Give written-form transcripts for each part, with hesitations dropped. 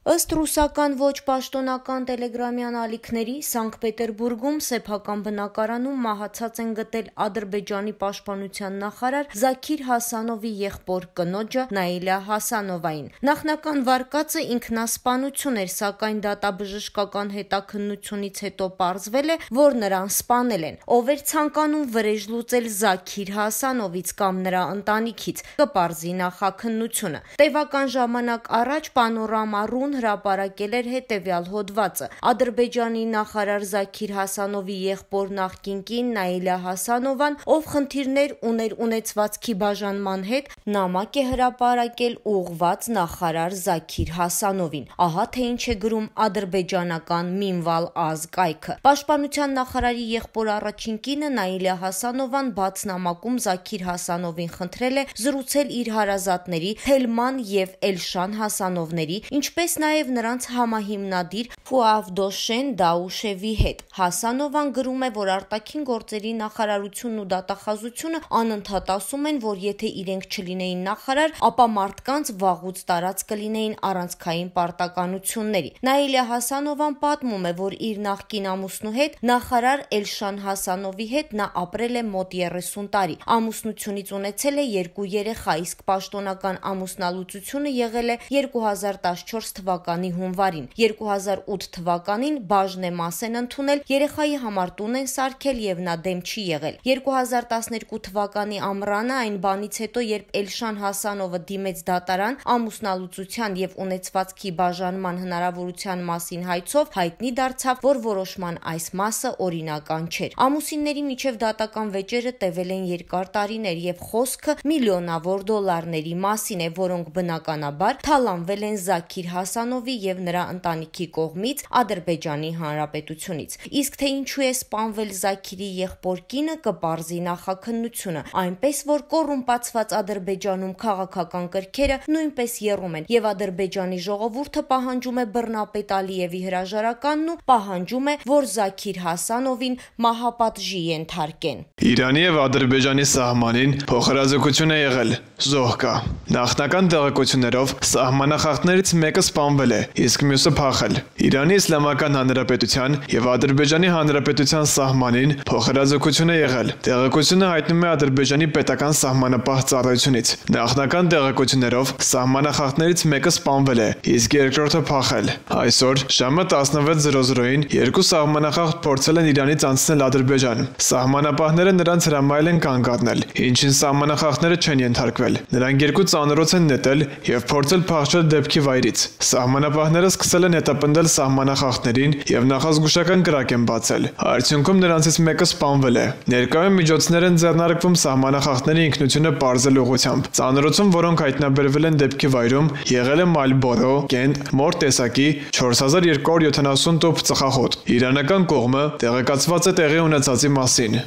Ըստ ռուսական ոչ պաշտոնական տելեգրամյան ալիքների, Սանկտ Պետերբուրգում սեփական բնակարանում մահացած են գտել Ադրբեջանի պաշտպանության նախարար Զաքիր Հասանովի եղբոր կնոջը Նաիլա Հասանովային։ Նախնական վարկածը ինքնասպանություն էր, սակայն դատաբժշկական հետաքննությունից հետո պարզվել է, որ նրան սպանել են։ Ով էր ցանկանում վրեժ լուծել Զաքիր Հասանովից կամ նրա ընտանիքից, կպարզի նախաքննությունը։ Տևական ժամանակ առաջ Պանորամա.ru հրապարակել էր հետևյալ հոդվածը. Ադրբեջանի նախարար Զաքիր Հասանովի եղբոր նախկին կին Նաիլա Հասանովան, ով խնդիրներ ուներ ունեցվածքի բաժանման հետ, նամակ է հրապարակել ուղղված նախարար Զաքիր Հասանովին։ Ահա թե ինչ է գրում ադրբեջանական Մինվալ Ազ կայքը։ Պաշտպանության նախարարի եղբոր առաջին կինը Նաիլա Հասանովան բաց նամակում Զաքիր Հասանովին խնդրել է զրուցել իր հարազատների Թելման եւ Էլշան Հասանովների, ինչպես նաև նրանց համահիմնադիր Ֆուավդոշեն Դաուշևի հետ։ Հասանովան գրում է, որ արտաքին գործերի նախարարությունն ու դատախազությունը անընդհատ ասում են, որ եթե իրենք չլինեին նախարար, ապա մարդկանց վաղուց տարած կլինեին առանցքային պարտականությունների։ Նաիլա Հասանովան պատմում է, որ իր նախկին ամուսնու հետ, նախարար Էլշան Հասանովի հետ նա ապրել է մոտ 30 տարի։ Ամուսնությունից ունեցել է 2 երեխա, իսկ պաշտոնական ամուսնալուծությունը եղել է 2014 թվականի հունվարին։ 2008 թվականին Բաժնեմաս են ընդունել, երեխայի համար տուն են սարքել եւ նա դեմ չի եղել։ 2012 թվականի ամռանը այն բանից հետո, երբ Էլշան Հասանովը դիմեց դատարան ամուսնալուծության եւ ունեցվածքի բաժանման հնարավորության մասին հայցով, հայտնի դարձավ, որ որոշման այս մասը օրինական չէր։ Ամուսինների միջև դատական վեճերը տևել են երկար տարիներ եւ խոսքը միլիոնավոր դոլարների մասին է, որոնք բնականաբար թալանվել են Զաքիր Հասանովի եւ նրա ընտանիքի կողմից Ադրբեջանի Հանրապետությունից։ Իսկ թե ինչու է սպանվել Զաքիրի եղբոր կինը, կպարզի նախաքննությունը, այնպես որ կոռումպացված Ադրբեջանում քաղաքական կրքերը նույնպես եռում են եւ Ադրբեջանի ժողովուրդը պահանջում է բռնապետ Ալիևի հրաժարականն ու պահանջում է, որ Զաքիր Հասանովին մահապատժի ենթարկեն։ Իրանի եւ Ադրբեջանի սահմանին փոխհրաձգություն է եղել, զոհ կա։ Նախնական տեղեկություններով սահմանախախտներից մեկը սպանվել է, իսկ մյուսը փախել։ Իրանի Իսլամական Հանրապետության եւ Ադրբեջանի Հանրապետության սահմանին փոխհրաձգություն է եղել։ Տեղեկությունը հայտնում է Ադրբեջանի պետական սահմանապահ ծառայությունից։ Նախնական տեղեկություններով սահմանախախտներից մեկը սպանվել է, իսկ երկրորդը փախել։ Այսօր ժամը 16:00-ին երկու սահմանախախտ փորձել են Իրանից անցնել Ադրբեջան։ Սահմանապահները նրանց հրամայել են կանգ առնել, ինչին սահմանախախտները չեն ենթարկվել։ Նրանք երկու ծանրոց են նետել եւ փորձել փախչել դեպքի վայրից։ Սահմանապահները սկսել են հետապնդել սահմանախախտներին եւ նախազգուշական կրակ են բացել։ Արդյունքում նրանցից մեկը սպանվել է։ Ներկայում միջոցներ են ձեռնարկվում սահմանախախտների ինքնությունը պարզել ուղղությամբ։ Ծանրոցում, որոնք հայտնաբերվել են դեպքի վայրում, եղել է Մալբորո, Կենտ, մոր տեսակի 4270 տոփ ծխախոտ։ Իրանական կողմը տեղեկացված է տեղի ունեցածի մասին։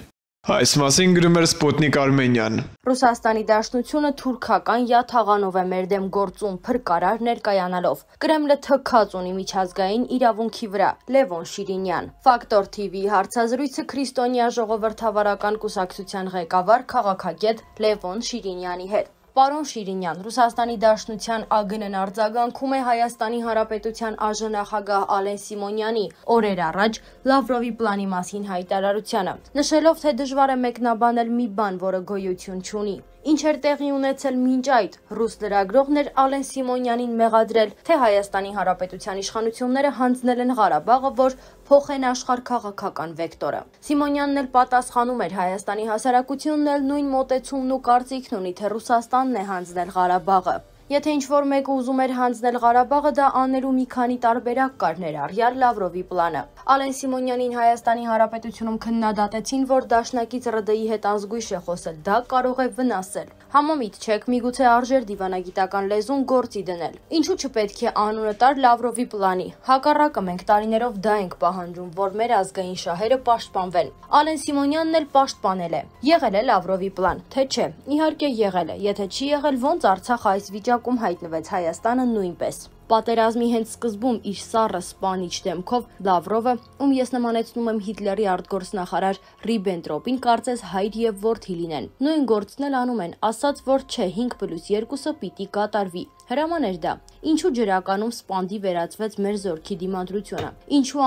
Այս մասին գրում էր Սպուտնիկ Արմենիան։ Ռուսաստանի Դաշնությունը թուրքական յաթաղանով է մեր դեմ գործում փրկարար ներկայանալով։ Կրեմլը թքած ունի միջազգային իրավունքի վրա։ Լևոն Շիրինյան։ Ֆակտոր TV հարցազրույցը Քրիստոնյա ժողովրդավարական կուսակցության ղեկավար քաղաքագետ Լևոն Շիրինյանի հետ։ Պարոն Շիրինյան, Ռուսաստանի Դաշնության ԱԳՆ-ն արձագանքում է Հայաստանի Հանրապետության ԱԺ-նախագահ Ալեն Սիմոնյանի օրեր առաջ Լավրովի պլանի մասին հայտարարությանը, նշելով, թե դժվար է մեկնաբանել մի բան, որը գոյություն չունի։ Ինչ էր տեղի ունեցել մինչ այդ, ռուս լրագրողներ Ալեն Սիմոնյանին մեղադրել, թե Հայաստանի Հանրապետության իշխանությունները հանձնել են Ղարաբաղը, որ փոխեն աշխարհքաղաքական վեկտորը։ Սիմոնյանն էլ պատասխանում էր, Հայաստանի հասարակությունն էլ նույն մոտեցումն ու կարծիքն ունի, թե Ռուսաստանն է հանձնել Ղարաբաղը։ Եթե ինչ-որ մեկը ուզում էր հանձնել Ղարաբաղը, դա անելու մի քանի տարբերակ կար, ներառյալ Լավրովի պլանը։ Ալեն Սիմոնյանին Հայաստանի Հանրապետությունում քննադատեցին, որ դաշնակից ՌԴ-ի հետ ազգույշ է խոսել, դա կարող է վնասել։ Համամիտ չեք, միգուցե արժեր դիվանագիտական լեզուն գործի դնել։ Ինչու չպետք է անունը տար Լավրովի պլանի։ Հակառակը մենք տարիներով դա ենք պահանջում, որ մեր ազգային շահերը պաշտպանվեն։ Ալեն Սիմոնյանն էլ պաշտպանել է։ Եղել է Լավրովի պլան, թե չէ։ Իհարկե եղել է, եթե չի եղել, ոնց Արցախը այս վիճակում հայտնվեց, Հայաստանը նույնպես։ Պատերազմի հենց սկզբում իր սառը սպանիչ դեմքով Լավրովը, ում ես նմանեցնում եմ Հիտլերի արտգործնախարար Ռիբենտրոպին, կարծես հայր եւ որդի լինեն։ Նույն գործն էլ անում են, ասած, որ չէ 5+2-ը պիտի կատարվի։ Հրամաներ դա։ Ինչու ջրականում սպանդի վերածվեց մեր զորքի դիմադրությունը։ Ինչու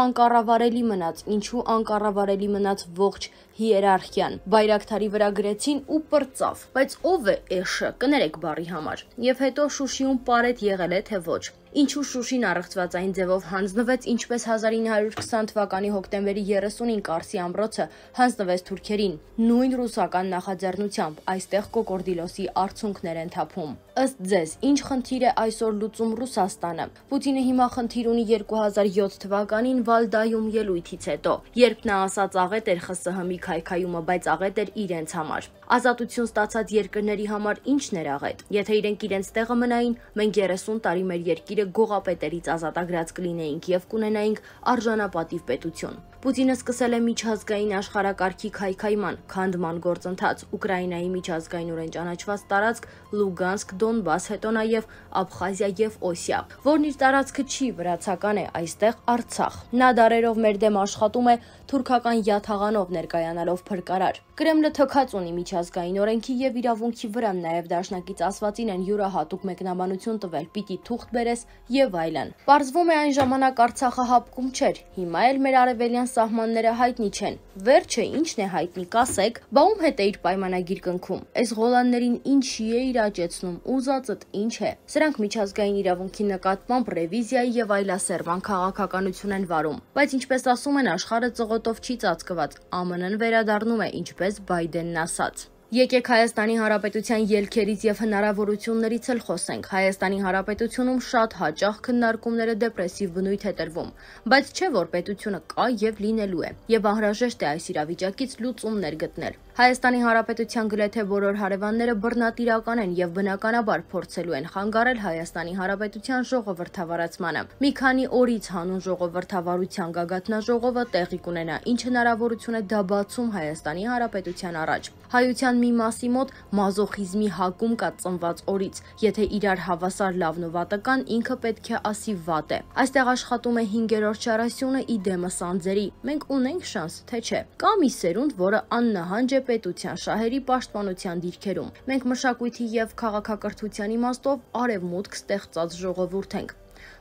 անկառավարելի մնաց ողջ հիերարխիան։ Բայրակթարի վրա գրեցին ու պրծավ։ Բայց ով է էշը, կներեք բառի համար։ Եվ հետո Շուշիում պարետ եղել է թե ոչ։ Ինչու Շուշին առեղծվածային ձևով հանձնվեց, ինչպես 1920 թվականի հոկտեմբերի 30-ին Կարսի ամրոցը հանձնվեց թուրքերին, նույն ռուսական նախաձեռնությամբ, այստեղ կոկորդիլոսի արցունքներ են թափում։ Ըստ ձեզ, ինչ խնդիր է այսօր լուծում Ռուսաստանը։ Պուտինը հիմա խնդիր ունի 2007 թվականին Վալդայում ելույթից հետո, երբ նա ասաց աղետ էր ԽՍՀՄ-ի քայքայումը, բայց աղետ էր իրենց համար։ Ազատություն ստացած երկրների համար ի՞նչն էր աղետ։ Եթե իրենք իրենց տեղը մնային, մենք 30 տարի մեր երկիրը գողապետերից ազատագրած կլինեինք եւ կունենայինք արժանապատիվ պետություն։ Պուտինը սկսել է միջազգային աշխարհակարգի քայքայման, քանդման գործընթաց, Ուկրաինայի միջազգայինորեն ճանաչված տարածք Լուգանսկ, Դոնբաս, հետո նաև Աբխազիա եւ Օսիա, որն իր տարածքը չի, վրացական է, այստեղ Արցախ։ Նա դարերով մեր դեմ աշխատում է թուրքական յաթաղանով ներկայանալով փրկարար։ Կրեմլը թքած ունի միջազգային օրենքի եւ իրավունքի վրա, նաեւ դաշնակից ասվածին են յուրահատուկ մեկնաբանություն տվել, պիտի թուղթ բերես եւ այլն։ Պարզվում է այն ժամանակ Արցախը հապկում չէր, հիմա էլ մեր արևելյան սահմանները հայտնի չեն։ Վերջը ինչն է հայտնի, կասեք, բա ում հետ է իր պայմանագիր կնքում։ Այս Ղոլաններին ինչի է իրաճեցնում, ուզածդ ինչ է։ Սրանք միջազգային իրավունքի նկատմամբ ռևիզիայի եւ այլասերման քաղաքականություն են վարում։ Բայց ինչպես ասում են, աշխարհը ծղոտով չի ծածկված, ԱՄՆ-ն վերադառնում է, ինչպես Բայդենն ասաց։ Եկեք Հայաստանի Հանրապետության ելքերից եւ հնարավորություններից էլ խոսենք։ Հայաստանի Հանրապետությունում շատ հաճախ քննարկումները դեպրեսիվ բնույթ է տրվում, բայց չէ որ պետությունը կա եւ լինելու է, եւ անհրաժեշտ է այս իրավիճակից լուծումներ գտնել։ Հայաստանի Հանրապետության գրեթե բոլոր հարևանները բռնատիրական են եւ բնականաբար փորձելու են խանգարել Հայաստանի Հանրապետության ժողովրդավարացմանը։ Մի քանի օրից հանուն ժողովրդավարության գագաթնաժողովը տեղի կունենա, ինչ հնարավորություն է դա բացում Հայաստանի Հանրապետության առաջ։ Հայության մի մասի մոտ մազոխիզմի հակում կա ծնված օրից, եթե իրար հավասար լավն ու վատը կան, ինքը պետք է ասի վատ է։ Այստեղ աշխատում է 5-րդ չարասյունը իդեմս անձերի։ Մենք ունենք շանս, թե չէ։ Կա մի սերունդ, որը աննահանջ է պետության շահերի պաշտպանության դիրքերում։ Մենք մշակույթի եւ քաղաքակրթության իմաստով արևմուտք ստեղծած ժողովուրդ ենք։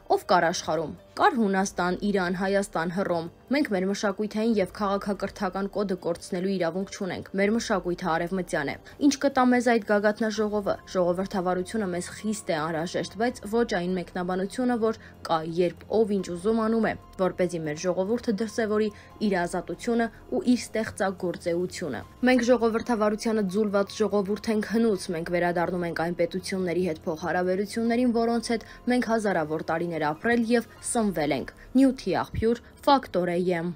Ով կար աշխարհում։ Կար Հունաստան, Իրան, Հայաստան, Հռոմ։ Մենք մեր մշակութային եւ քաղաքակրթական կոդը կորցնելու իրավունք չունենք։ Մեր մշակույթը արևմտյան է։ Ինչ կտա մեզ այդ գագաթնաժողովը։ Ժողովրդավարությունը մեզ խիստ է անհրաժեշտ, բայց ոչ այն մեկնաբանությունը, որ կա, երբ ով ինչ ուզում անում է, որպեսզի մեր ժողովուրդը դրսևորի իր ազատությունը ու իր ստեղծագործեությունը։ Մենք ժողովրդավարությանը ձուլված ժողովուրդ ենք հնուց, մենք վերադառնում ենք այն պետությունների հետ փոխհարաբերություններին, որոնց հետ մենք հազարավոր տարիներ ապրել եւ սնվել ենք։ Նյութի աղբյուր, Ֆակտոր AM։